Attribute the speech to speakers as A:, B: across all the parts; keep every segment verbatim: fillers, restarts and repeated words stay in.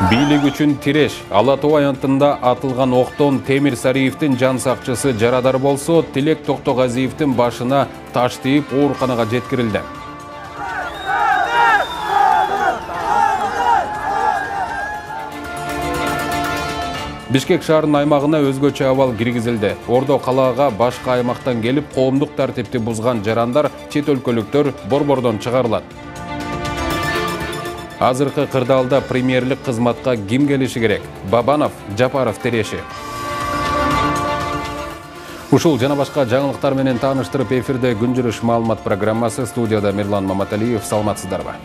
A: Бийлик үчүн тиреш. Ала Тоо аянтында атылган октон Темир Сариевдин жан сакчысы жарадар болсо, Тилек Токтогазиевдин башына таш тийип ооруканага жеткирилди. Бишкек шаарынын аймагына өзгөчө абал киргизилди. Ордо калаага башка аймактан келип, коомдук тартипти бузган жарандар, чет өлкөлүктөр борбордон чыгарылат. Азыркы кырдаалда премьерлик кызматка ким келиши керек? Бабанов, Жапаров тереши. Ушул жана башка жаңылыктар менен тааныштырып эфирде күн жүрүш маалымат программасы. Студияда Мирлан Маматалиев. Саламатсыздарбы?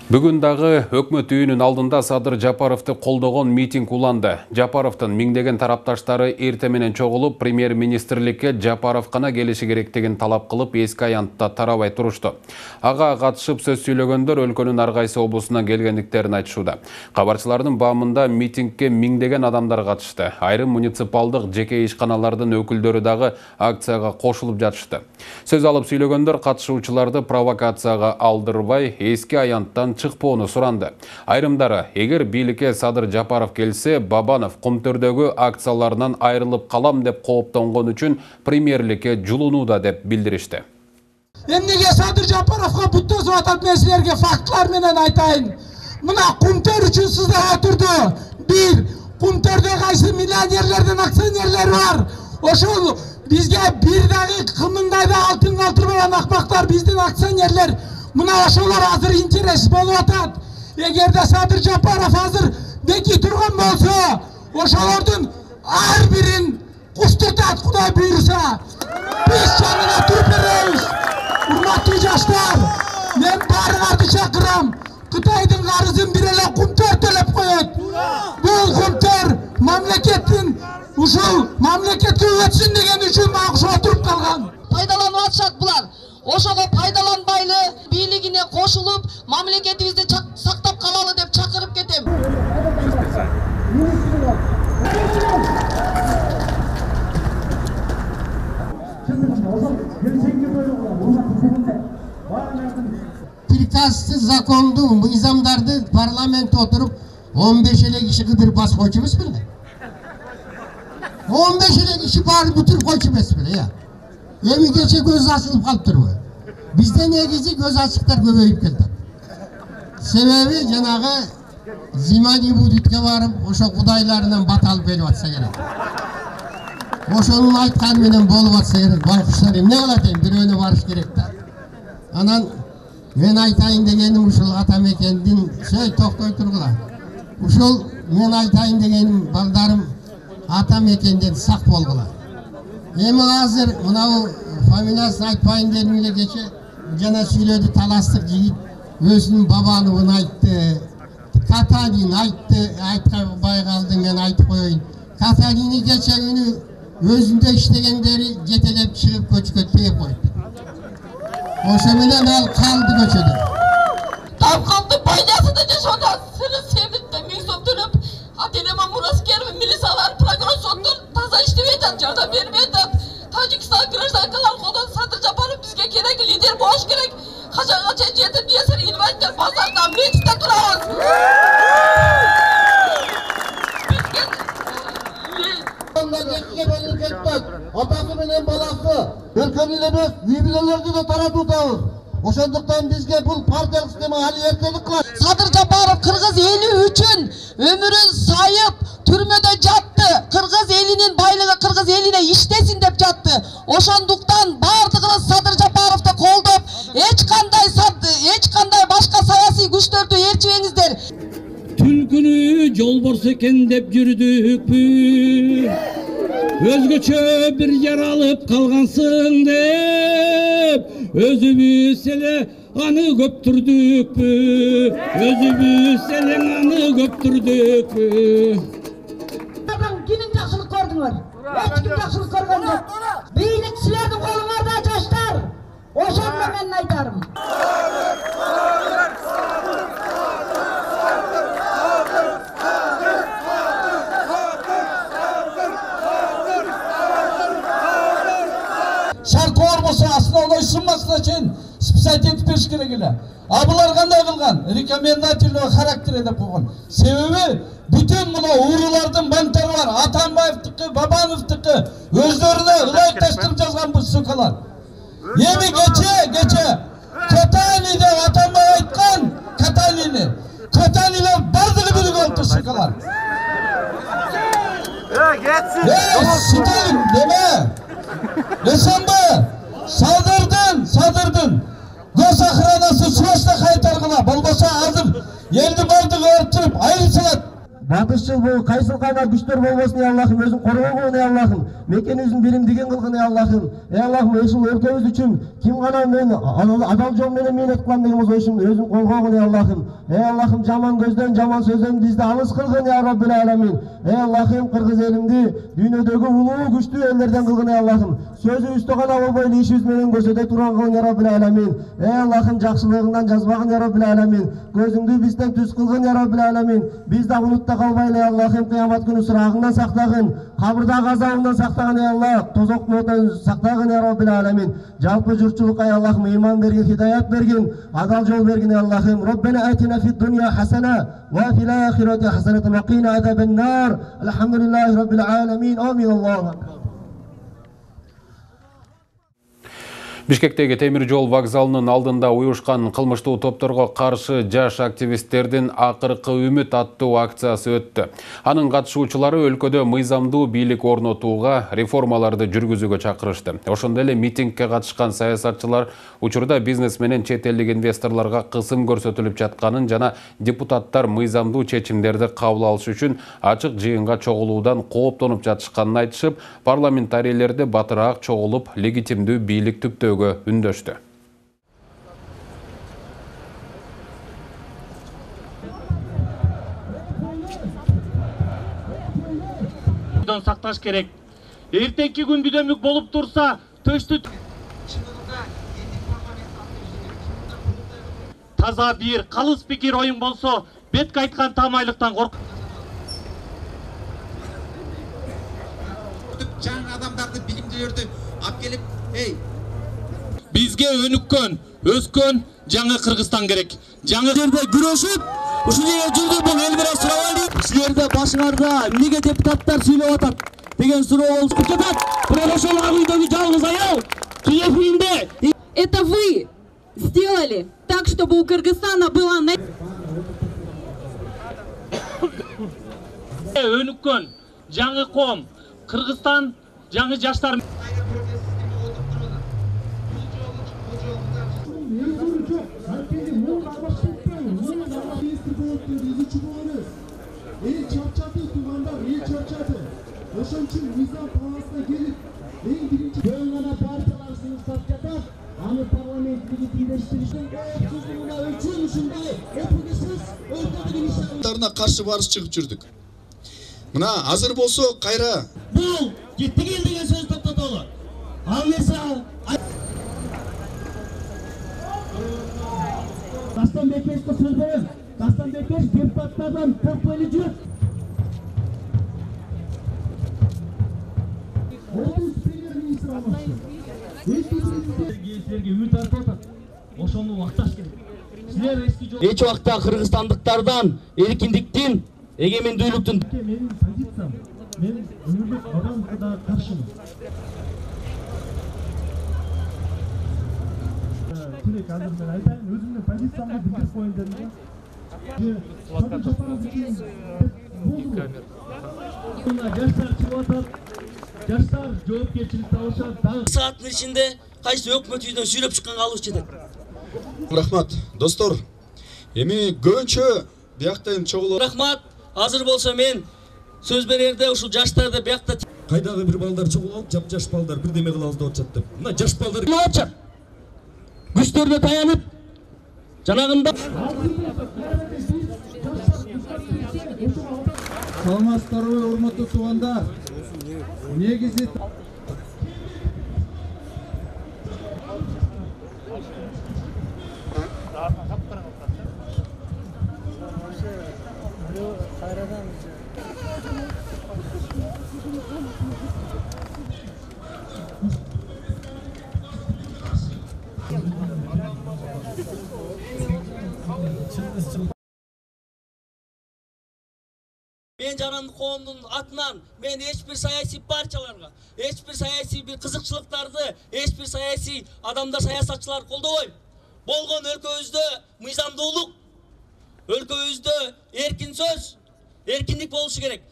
A: Бүгүн дагы өкмөт үйүнүн алдында Садыр Жапаровду колдогон митинг уланды. Жапаровдун миңдеген тарапташтары эрте менен чогулуп, премьер-министрликке Жапаров гана келиши керектигин талап кылып, эски аянтта тарабай турушту. Ага катышып сөз сүйлөгөндөр өлкөнүн ар кайсы облусунан келгендиктерин айтышууда. Кабарчылардын баамында митингге миңдеген адамдар катышты. Айрым муниципалдык жеке ишканалардын өкүлдөрү дагы акцияга кошулуп жатышты. Сөз алып сүйлөгөндөр катышуучуларды провокацияга алдырбай, эски аянттан чыкпоону суранды. Айрымдары, эгер бийликке Садыр Жапаров келсе, Бабанов Кумтөрдөгү акцияларынан айрылып калам деп кооптонгон үчүн премьерликке жулунууда деп билдиришти.
B: Эмнеге Садыр Жапаровго буттосуп атат, мен силерге фактылар менен айтайын. Мына Кумтөр үчүн сыздап турду. Бир, Кумтөрдө кайсы миллионерлердин акционерлери бар. Ошол бизге бир дагы кымыңдайда алтын калтырбаган акбактар биздин акционерлер. Мына ошолор азыр интерес болуп атат. Эгерде Садыр Жапаров азыр беки турган болсо, ошолордун ар бирин куштуртат, Кудай буйруса. Биз жанына туруп беребиз. Урматтуу жаштар, мен баарыңарды чакырам. Кытайдын карызын бир эле Кумтөр төлөп коет. Бул Кумтөр мамлекеттин ушул мамлекетке өтсүн деген үчүн мага отуруп калган.
C: Пайдаланып атышат булар. Ошого пайдаланбайлы, бийлигине кошулуп, мамлекетибизди сактап калалы деп чакырып кетем.
D: Приказсыз законду, мыйзамдарды парламентте отуруп он беш эле киши кыдырып басып койчу эмес беле? он беш эле киши баарын бүтүрүп койчу эмес беле? Эми кече көз ачылып калыптырбы? Бизде негизи көз ачыктар көбөйүп келди. Себеби жанагы Зимани Будитке барып, ошо кудайларынан бат алып келип атса керек. Ошонун айтканы менен болуп атса керек. Байкуштар эмне кылат эми, бирөөнө барыш керек да. Анан мен айтайын дегеним ушул ата мекендин, сөй токтой тургула. Ушул мен айтайын дегеним, балдарым ата мекенден сак болгула. Эми азыр мынау фамилиясын айтпайын дедим эле, кече жана сүйлөдү таластык жигит өзүнүн бабаныбын айтты. Катанин айтты, айтпай калды, мен айтып коеюн. Катанини кече күнү өзүндө иштегендери жетелеп чыгып көчкө тээп койду. Ошо менен ал калды көчөдө.
C: Тапканды байласында жашоодо сыры себитте миң сом төлөп, ата-энеме мураскер милициялар, прокурор соттор таза иштебей атат, жардам бербей атат. Тажикстан гражданкалар колдон Садыр Жапаров бизге керек, лидер болуш керек. Качанга чейин жетим жесир инвалидтер базарда мечитте турабыз.
E: Атасы менен баласы өлкөнү эле эмес, үй бүлөлөрдү да таратуудабыз. Ошондуктан бизге бул партиялык система али эркелик кылат.
C: Садыр Жапаров кыргыз эли үчүн өмүрүн сайып түрмөдө жатты. Кыргыз элинин байлыгы кыргыз элине иштесин деп жатты. Ошондуктан бардыгыбыз Садыр Жапаровду колдоп, эч кандай эч кандай башка саясий күчтөрдү ээрчибеңиздер.
F: Түлкүнү жолборс экен деп жүрдүкпү, өзгөчө бир жаралып калгансың деп, өзүбүз эле аны көптүрдүкпү, өзүбүз эле аны көптүрдүкпү.
G: Кимин жакшылык көрдүңөр? Эч ким жакшылык көргөн жок. Бийлик силердин колуңарда, жаштар. Ошон менен айтарым.
B: Шаркоор болсо основной суммасына чейин списать этип бериш керек эле. А булар кандай кылган? Рекомендательный характер деп койгон. Себеби бүтүн мына уурулардын банктары бар. Атамбаевдики, Бабановдики өздөрүнө ылайыкташтырып жазган бул сукалар. Эми кече, кече Катани деп Атамбаев айткан, Катанини. Катанилер бардыгы билип алыпты сукалар. Э, кетсин. Э, Сталин деме. Эсенбе, садырдын, садырдын. Гос охранасы срочно кайтаргыла. Болбосо азыр элди бардыгы ыртып, айрып салат.
E: Батышчыл бул кайсыл кайнар күчтөр болбосун, ey Аллахым, өзүң коргогун, ey Аллахым. Мекенибиздин билимдигин кылгын, ey Аллахым. Ey Аллахым, ушул өлкөбүз үчүн ким гана мен адал жол менен мээнет кылам деген болсо, ушун өзүң коргогун, ey Аллахым. Ey Аллахым, жаман көздөн, жаман сөздөн бизди алыс кылгын, ya Rabbil Alamin. Ey Аллахым, кыргыз элимди дүйнөдөгү улуу күчтүү элдерден кылгын, ey Аллахым. Сөзүбүздө гана болбой, ишибиз менен көрсөтө турган кылгын, ya Rabbil Alamin. Ey Аллахым, жакшылыгыңдан жазбагын, ya Rabbil Alamin. Көзүңдү бизден түз кылгын, ya Rabbil Alamin. Биз да унутта калбайлы, ey Аллахым, кыямат күнү сурагыңдан сактагын, кабырдагы азабынан сактагын, ey Allah. Тозоктун отун сактагын, ya Rabbil Alamin. Жалпы журтчулукка, ey Аллахым, ыйман бергин, хидаят бергин, адал жол бергин, ey Аллахым. Роббана атина фид дунья хасана ва фил ахирати хасанатан ва кина азабан нар. Алхамдулиллахи Rabbil Alamin. Амин. Аллаху акбар.
A: Бишкектеги темир жол вокзалынын алдында уюшкан кылмыштуу топторго каршы жаш активисттердин акыркы үмүт аттуу акциясы өттү. Анын катышуучулары өлкөдө мыйзамдуу бийлик орнотууга, реформаларды жүргүзүүгө чакырышты. Ошондой эле митингге катышкан саясатчылар учурда бизнес менен чет элдик инвесторлорго кысым көрсөтүлүп жатканын жана депутаттар мыйзамдуу чечимдерди кабыл алыш үчүн ачык жыйынга чогулуудан кооптонуп жатышканын айтышып, парламентарийлерди батыраак чогулуп легитимдүү бийлик түптөө үндөштү.
H: Сакташ керек. Эртеңки күн бүдөмүк болуп турса, төштү таза бир калыс пикир оюң болсо, бетке айткан тамайлыктан корк.
I: Жаңы адамдарды, билимдүүлөрдү алып келип, эй,
H: бизге өнүккөн, өскөн жаңы Кыргызстан керек. Жаңы жерде күрөшүп, ушул жерде жүрдү бул эл менен сурабайлы. Силерде башыңарда эмнеге депутаттар сүйлөп атат деген суроо болуп жатат. Бирок ошол агүйдөгү жалгыз аял Киевинде.
C: Это вы сделали так, чтобы у Кыргызстана была
H: өнүккөн жаңы ком, Кыргызстан жаңы жаштар.
I: каршы барыш чыгып жүрдүк. Мына азыр болсо кайра
H: бул кетти кел деген сөз токтотолу. Ал нерсе Дастан Бекешке сөз берем. Дастан Бекеш депутаттардан төрт жүз. Облус премьер-министр алмашты. Силерге үмүт артып атат. Ошону акташ керек. Силер эски жол. Эч убакта кыргызстандыктардан эркиндиктин, эгемендүүлүктүн менин позициям, мен өмүрлүк бабамга каршымын. Тилек азыр мен айтайын, өзүмдүн позициямды билдирип коеюн дедим. Жаштар чыгып атат. Жаштар жоопкерчиликти алышат. Сааттын ичинде кайсы өкмөт үйдөн сүйлөп чыкканга алып жетет.
I: Рахмат, достор. Эми көбүнчө бияктан чогулуп.
H: Рахмат. Азыр болсо мен сөз берерде ушул жаштарды биякта
J: кайдагы бир балдар чогулуп, жап-жаш балдар бирдеме кылабыз деп атышат деп. Мына жаш балдар
H: болчу. Күчтөрүнө таянып жанагында
K: саламатсыздарбы, урматтуу туугандар. Негизи
H: Мен Жарандык коомдун атынан мен эч бир саясий партияларга, эч бир саясий бир кызыкчылыктарды, эч бир саясий адамдар, саясатчылар колдобойм. Болгон өлкөбүздө мыйзамдуулук, өлкөбүздө эркин сөз, эркиндик болушу керек.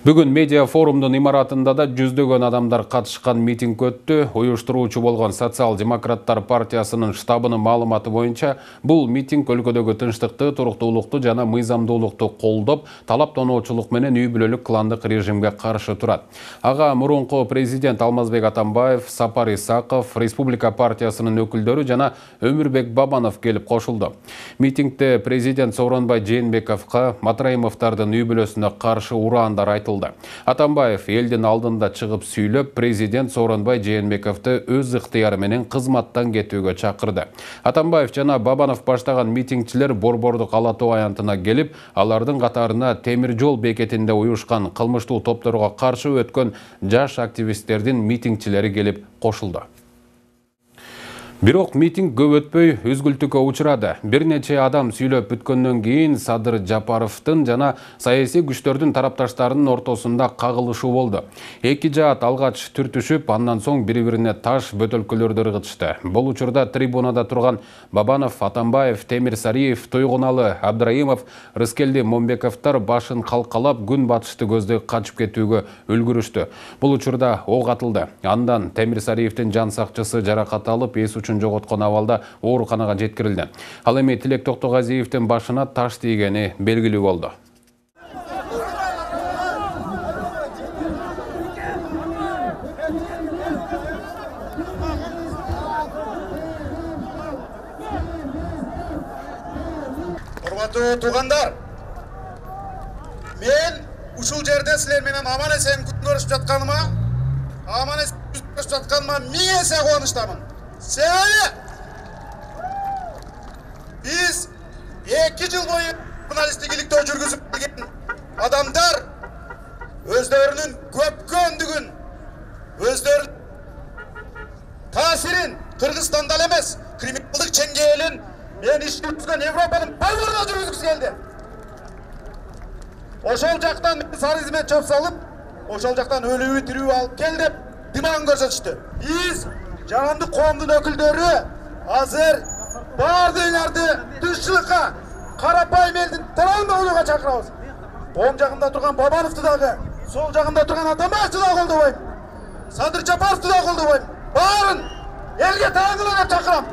A: Бүгүн медиа форумдун имаратында да жүздөгөн адамдар катышкан митинг өттү. Уюштуруучу болгон Социал-демократтар партиясынын штабынын маалыматы боюнча, бул митинг өлкөдөгү тынчтыкты, туруктуулукту жана мыйзамдуулукту колдоп, талап тоноочулук менен үй бүлөлүк кландык режимге каршы турат. Ага мурунку президент Алмазбек Атамбаев, Сапар Исаков, Республика партиясынын өкүлдөрү жана Өмүрбек Бабанов келип кошулду. Митингде президент Сооронбай Жээнбековго Матраимовдордун үй бүлөсүнө каршы ураандар айтылды. Атамбаев элдин алдында чыгып сүйлөп, президент Сооронбай Жээнбековду өз ыктыяры менен кызматтан кетүүгө чакырды. Атамбаев жана Бабанов баштаган митингчилер Борбордук Ала Тоо аянтына келип, алардын катарына темир жол бекетинде уюшкан кылмыштуу топторго каршы өткөн жаш активисттердин митингчилери келип кошулду. Бирок митинг көп өтпөй үзгүлтүккө учурады. Бир нече адам сүйлөп бүткөндөн кийин Садыр Жапаровдун жана саясий күчтөрдүн тарапташтарынын ортосунда кагылышуу болду. Эки жаат алгач түртүшүп, андан соң бири-бирине таш, бөтөлкөлөрдү ыргытышты. Бул учурда трибунада турган Бабанов, Атамбаев, Темирсариев, Тойгуналы, Абдраимов, Рыскелди Момбековдор башын калкалап күн батышты көздөй качып кетүүгө үлгүрүштү. Бул учурда ок атылды. Андан Темирсариевдин жан сакчысы жаракат алып, эс үчүн жоготкон абалда ооруканага жеткирилди. Ал эми Тилек Токтогазиевдин башына таш тийгени белгилүү болду.
I: Урматтуу туугандар, мен ушул жерде силер менен аман эсен күнөшүп жатканыма, аман эсен күнөшүп жатканыма миң эсе кубанычтамын. Себеби биз эки жыл бою журналисттик иликтөө жүргүзүп келген адамдар өздөрүнүн көпкөндүгүн, өздөрүнүн таасирин Кыргызстанда эле эмес, криминалдык чеңгээлин мен иш жүргүзгөн Европанын баардыгына жүргүзгүсү келди. Ошол жактан мен сары хизмет чөп салып, ошол жактан өлүү тирүү алып кел деп димагын көрсөтүштү. Биз Жарандык коомдун өкүлдөрү азыр баардыгыңарды тынччылыкка, карапайым элдин тарабында болууга чакырабыз. Оң жагында турган Бабановду дагы, сол жагында турган Атамбаевду дагы колдобойм. Садыр Жапаровду дагы колдобойм. Баарын элге таандыла деп чакырам.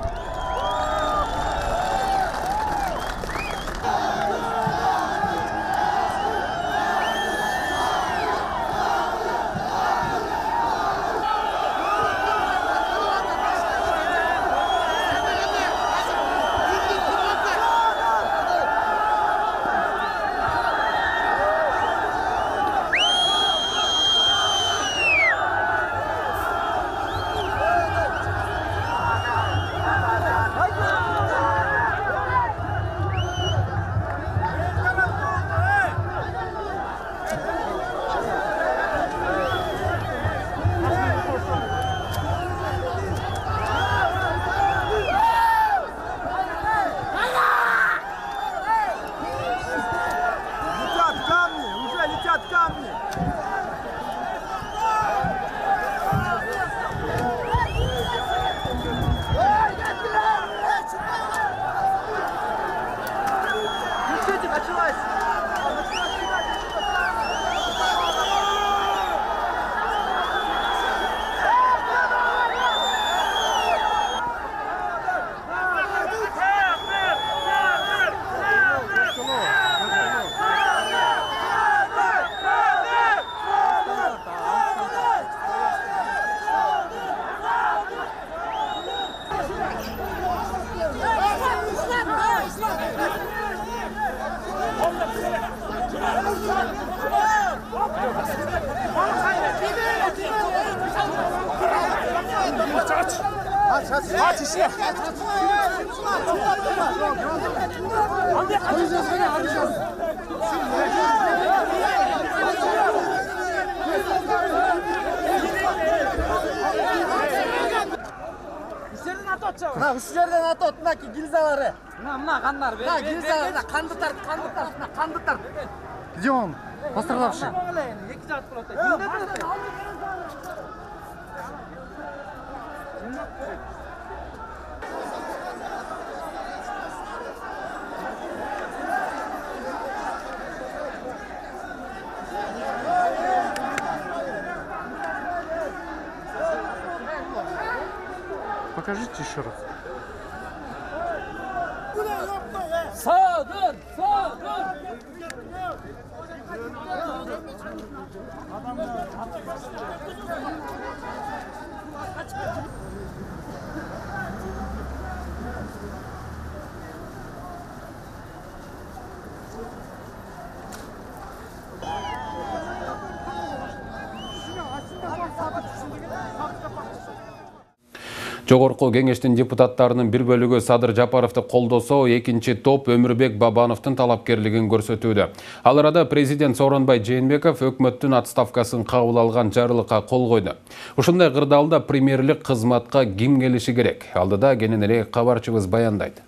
G: Мына ушул жерден атат, мынакей гильзалары. Мына мына кандар бер. Мына гильзалар, канды тарт, канды тарт, мына канды тарт. Где он? Пострадавший. Эки жагат болот.
L: Покажите еще раз.
G: Садыр, садыр.
A: Жогорку кеңештин депутаттарынын бир бөлүгү Садыр Жапаровду колдосо, экинчи топ Өмүрбек Бабановдун талапкерлигин көрсөтүүдө. Ал арада президент Сооронбай Жээнбеков өкмөттүн отставкасын кабыл алган жарлыкка кол койду. Ушундай кырдаалда премьерлик кызматка ким келиши керек? Алдыда кененирээк кабарчыбыз баяндайт.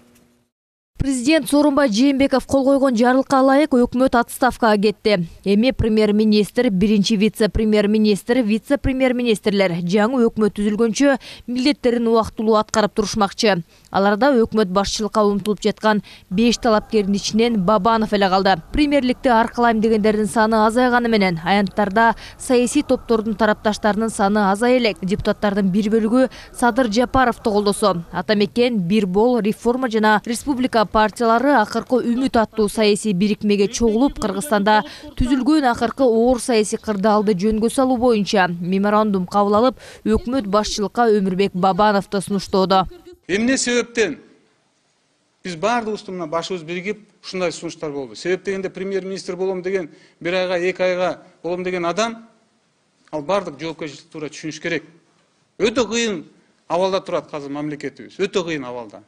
M: Президент Сооронбай Жээнбеков кол койгон жарлыкка ылайык өкмөт отставкага кетти. Эми премьер-министр, биринчи вице-премьер-министр, вице-премьер-министрлер жаңы өкмөт түзүлгөнчө милдеттерин убактылуу аткарып турушмакчы. Аларда өкмөт башчылыкка умтулуп жаткан беш талапкердин ичинен Бабанов эле калды. Премьерликти аркалайм дегендердин саны азайганы менен аянттарда саясий топтордун тарапташтарынын саны азай элек. Депутаттардын бир бөлүгү Садыр Жапаровду колдосо. Атамекен, Бир бол, Реформа жана Республика партиялары акыркы үмүт аттуу саясий бирикмеге чогулуп, Кыргызстанда түзүлгөн акыркы оор саясий кырдаалды жөнгө салуу боюнча меморандум кабыл алып, өкмөт башчылыкка Өмүрбек Бабановду сунуштоодо.
L: Эмне себептен биз баардыгыбыз мына башыбыз биригип ушундай сунуштар болду. Себеп дегенде премьер-министр болом деген, бир айга, эки айга болом деген адам, ал баардык жоопкерчиликти туура түшүнүш керек. Өтө кыйын абалда турат азыр мамлекетибиз, өтө кыйын абалда.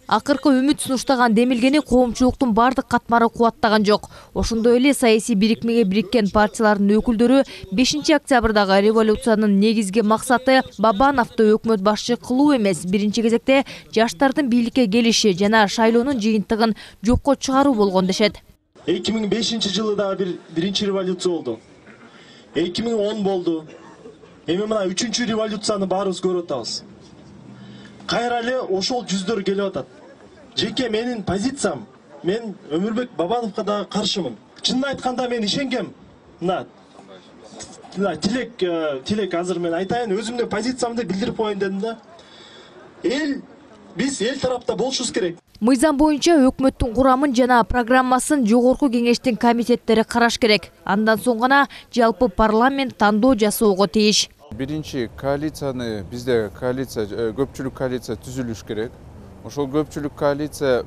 M: Акыркы үмүт сунуштаган демилгени коомчулуктун бардык катмары кубаттаган жок. Ошондой эле саясий бирикмеге бириккен партиялардын өкүлдөрү бешинчи октябрдагы революциянын негизги максаты Бабановду өкмөт башчы кылуу эмес, биринчи кезекте жаштардын бийликке келиши жана шайлоонун жыйынтыгын жокко чыгаруу болгон дешет.
N: эки миң бешинчи жылы да бир биринчи революция болду. эки миң он болду. Эми мына үчүнчү революцияны баарыбыз көрүп атабыз. Кайра эле ошол жүздөр келип атат. Жеке менин позициям, мен Өмүрбек Бабановго да каршымын. Чынын айтканда мен ишенгем. Мына тилек тилек азыр мен айтайын, өзүмдүн позициямды билдирип коеюн дедим да. Эл биз эл тарапта болушубуз керек.
M: Мыйзам боюнча өкмөттүн курамын жана программасын жогорку кеңештин комитеттери караш керек. Андан соң гана жалпы парламент тандоо жасоого тийиш.
O: Биринчи коалицияны, бизде коалиция, көпчүлүк коалиция түзүлүш керек. Ошол көпчүлүк коалиция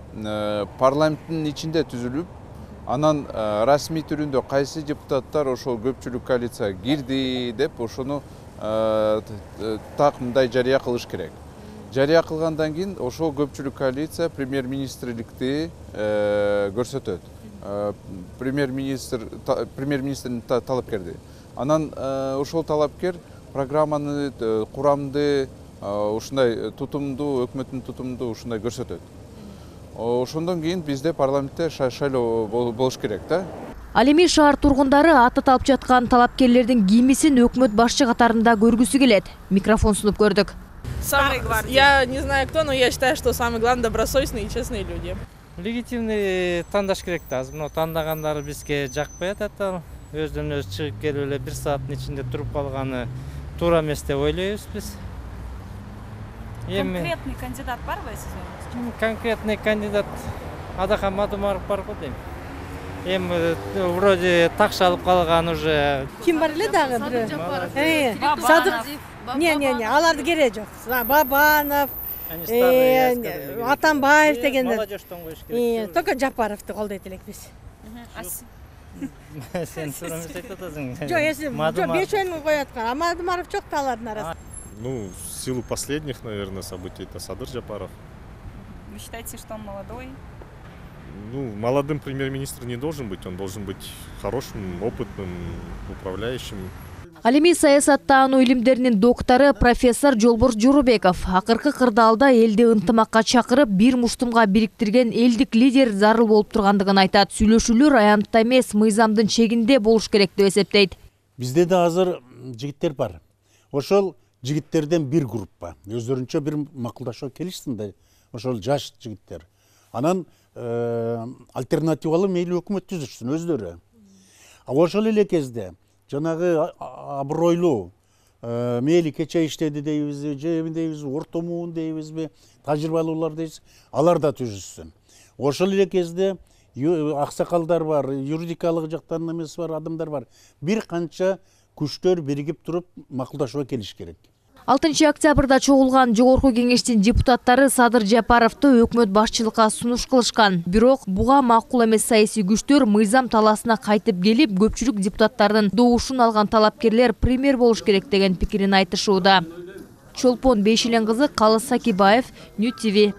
O: парламенттин ичинде түзүлүп, анан расмий түрүндө кайсы депутаттар ошол көпчүлүк коалицияга кирди деп ошону так мындай жарыя кылыш керек. Жарыя кылгандан кийин ошол көпчүлүк коалиция премьер-министрликти көрсөтөт. Премьер-министр премьер-министрдин талапкерди. Анан ошол талапкер программаны, курамды, ушундай тутумду, өкмөттүн тутумду ушундай көрсөтөт. Ошондон кийин бизде парламентте шайлоо болуш керек да.
M: Ал эми шаар тургундары ататалып жаткан талапкерлердин кимисин өкмөт башчы катарында көргүсү келет. Микрофон сунуп көрдүк.
P: Я не знаю кто, но я считаю, что самое главное добросовестные и честные люди.
Q: Легитимный тандаш керек да. Азыр мына тандагандары бизге жакпай атат. Өздөн өзү чыгып келип эле бир сааттын ичинде туруп калганы туура эмес деп ойлойбуз биз.
R: Конкретный кандидат барбы сиз?
Q: Конкретный кандидат Адахан Мадумаров бар го дейм. Эми вроде такшалып калган уже.
R: Ким бар эле дагы бирөө? Садыр. Не-не-не, аларды кереги жок. Бабанов, Атамбаев дегендер.
Q: Молодежьтон коюш керек.
R: Только Жапаровду колдойт элек биз.
Q: Сен туура эмес айтып атасың.
R: Жок, эси бешөөнү коюп аткан. Мадумаров жок да алардын арасында.
S: Ну, в силу последних, наверное, событий это Садыр Жапаров.
R: Вы считаете, что он молодой?
S: Ну, молодым премьер-министр не должен быть, он должен быть хорошим, опытным, управляющим.
M: Ал эми саясаттануу илимдеринин доктору профессор Жолборс Жоробеков акыркы кырдаалда элди ынтымакка чакырып, бир муштумга бириктирген элдик лидер зарыл болуп тургандыгын айтат. Сүйлөшүүлөр аянтта эмес, мыйзамдын чегинде болуш керек деп эсептейт.
T: Бизде да азыр жигиттер бар. Ошол жигиттерден бир группа өздөрүнчө бир макулдашууга келишсин да, ошол жаш жигиттер. Анан альтернативалуу мейли өкмөт түзүшсүн өздөрү. Ошол эле кезде жанагы абройлуу мейли кече иштеди дейбизби, же дейбизби, орто муун дейбизби, тажрыйбалуулар дейбиз, алар да түзүшсүн. Ошол эле кезде аксакалдар бар, юридикалык жактан эмес бар, адамдар бар. Бир канча күчтөр биригип туруп макулдашууга келиш керек.
M: алтынчы октябрда чогулган Жогорку кеңештин депутаттары Садыр Жапаровду өкмөт башчылыкка сунуш кылышкан. Бирок буга макул эмес саясий күчтөр мыйзам талаасына кайтып келип, көпчүлүк депутаттардын добушун алган талапкерлер премьер болуш керек деген пикирин айтышууда. Чолпон Бейшилен кызы, Калыс Сакибаев, Нью ти ви.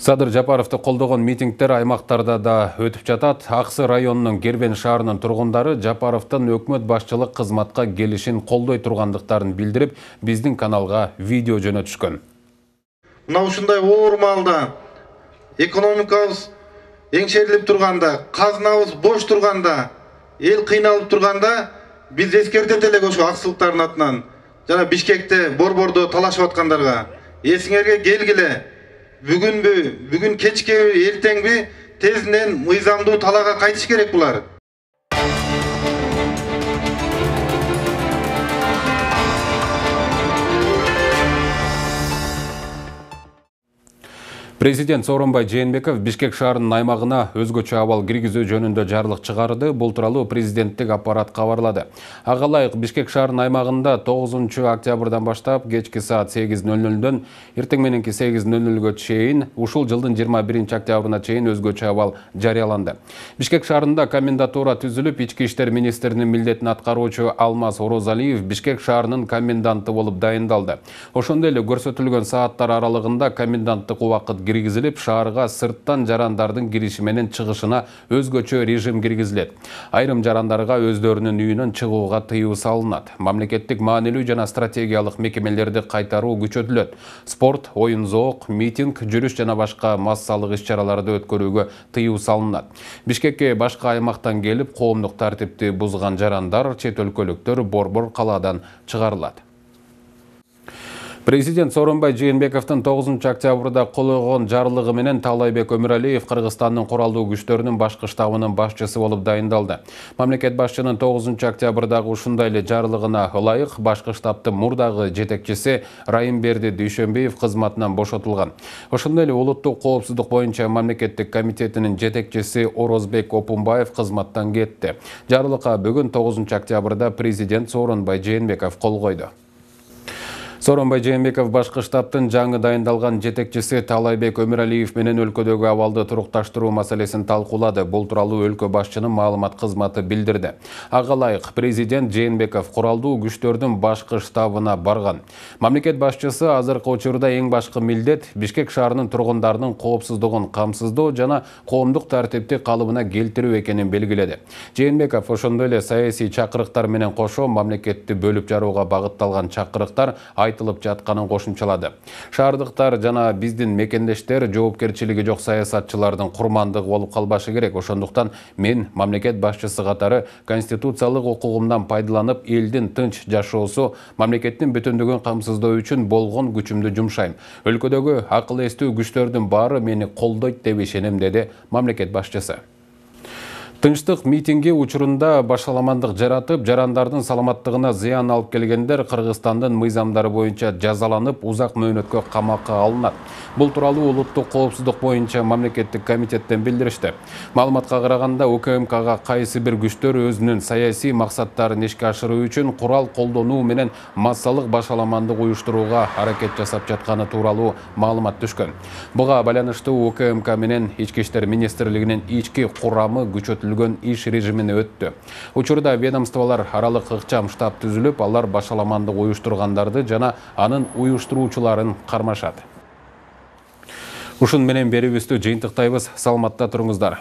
A: Садыр Жапаровду колдогон митингдер аймактарда да өтүп жатат. Аксы районунун Кербен шаарынын тургундары Жапаровдун өкмөт башчылык кызматка келишин колдой тургандыктарын билдирип, биздин каналга видео жөнөтүшкөн.
I: Мына ушундай оор маалда экономикабыз эңшерилип турганда, казынабыз бош турганда, эл кыйналып турганда биз эскертет элек ошо аксылыктардын атынан. Жана Бишкекте, Борбордо талашып аткандарга эсиңерге келгиле. Бүгүнбү, бүгүн кечкеби, эртеңби тезинен мыйзамдуу талаага кайтыш керек булар.
A: Президент Сооронбай Жээнбеков Бишкек шаарынын аймагына өзгөчө абал киргизүү жөнүндө жарлык чыгарды. Бул тууралуу президенттик аппарат кабарлады. Ага ылайык Бишкек шаарынын аймагында тогузунчу октябрдан баштап кечки саат сегиз нөл нөлдөн эртең мененки сегиз нөл нөлгө чейин, ушул жылдын жыйырма биринчи октябрына чейин өзгөчө абал жарыяланды. Бишкек шаарында комендатура түзүлүп, ички иштер министринин милдетин аткаруучу Алмаз Орозалиев Бишкек шаарынын коменданты болуп дайындалды. Ошондой эле көрсөтүлгөн сааттар аралыгында коменданттык убакыт киргизилип, шаарга сырттан жарандардын кириши менен чыгышына өзгөчө режим киргизилет. Айрым жарандарга өздөрүнүн үйүнөн чыгууга тыюу салынат. Мамлекеттик маанилүү жана стратегиялык мекемелерди кайтаруу күчөтүлөт. Спорт, оюн-зоок, митинг, жүрүш жана башка массалык иш-чараларды өткөрүүгө тыюу салынат. Бишкекке башка аймактан келип, коомдук тартипти бузган жарандар, чет өлкөлүктөр борбор калаадан чыгарылат. Президент Сооронбай Жээнбековдун тогузунчу октябрда кол койгон жарлыгы менен Таалайбек Өмүралиев Кыргызстандын куралдуу күчтөрүнүн башкы штабынын башчысы болуп дайындалды. Мамлекет башчынын тогузунчу октябрдагы ушундай эле жарлыгына ылайык башкы штабтын мурдагы жетекчиси Райымберди Дүйшөнбиев кызматынан бошотулган. Ошондой эле улуттук коопсуздук боюнча мамлекеттик комитетинин жетекчиси Орозбек Опунбаев кызматтан кетти. Жарлыкка бүгүн тогузунчу октябрда президент Сооронбай Жээнбеков кол койду. Сооронбай Жээнбеков башкы штабтын жаңы дайындалган жетекчиси Таалайбек Өмүралиев менен өлкөдөгү абалды турукташтыруу маселесин талкуулады. Бул тууралуу өлкө башчынын маалымат кызматы билдирди. Ага ылайык президент Жээнбеков куралдуу күчтөрдүн башкы штабына барган. Мамлекет башчысы азыркы учурда эң башкы милдет Бишкек шаарынын тургундарынын коопсуздугун камсыздоо жана коомдук тартипти калыбына келтирүү экенин белгиледи. Жээнбеков ошондой эле саясий чакырыктар менен кошо мамлекетти бөлүп жарууга багытталган чакырыктар айтылып жатканын кошумчалады. Шаардыктар жана биздин мекендештер жоопкерчилиги жок саясатчылардын курмандыгы болуп калбашы керек. Ошондуктан мен мамлекет башчысы катары конституциялык укугумдан пайдаланып, элдин тынч жашоосу, мамлекеттин бүтүндүгүн камсыздоо үчүн болгон күчүмдү жумшайм. Өлкөдөгү акыл эстүү күчтөрдүн баары мени колдойт деп ишенем, деди мамлекет башчысы. Тынчтык митинги учурунда башаламандык жаратып, жарандардын саламаттыгына зыян алып келгендер Кыргызстандын мыйзамдары боюнча жазаланып, узак мөөнөткө камакка алынат. Бул тууралуу улуттук коопсуздук боюнча мамлекеттик комитеттен билдиришти. Маалыматка караганда, УКМКга кайсы бир күчтөр өзүнүн саясий максаттарын ишке ашыруу үчүн курал колдонуу менен массалык башаламандык уюштурууга аракет жасап жатканы тууралуу маалымат түшкөн. Буга байланыштуу УКМК менен Ички иштер министрлигинин ички курамы күчөтүлгөн иш режимине өттү. Учурда ведомстволор аралык ыкчам штаб түзүлүп, алар башаламандык уюштургандарды жана анын уюштуруучуларын кармашат. Ушун менен берүүбүздү жыйынтыктайбыз. Саламатта туруңуздар.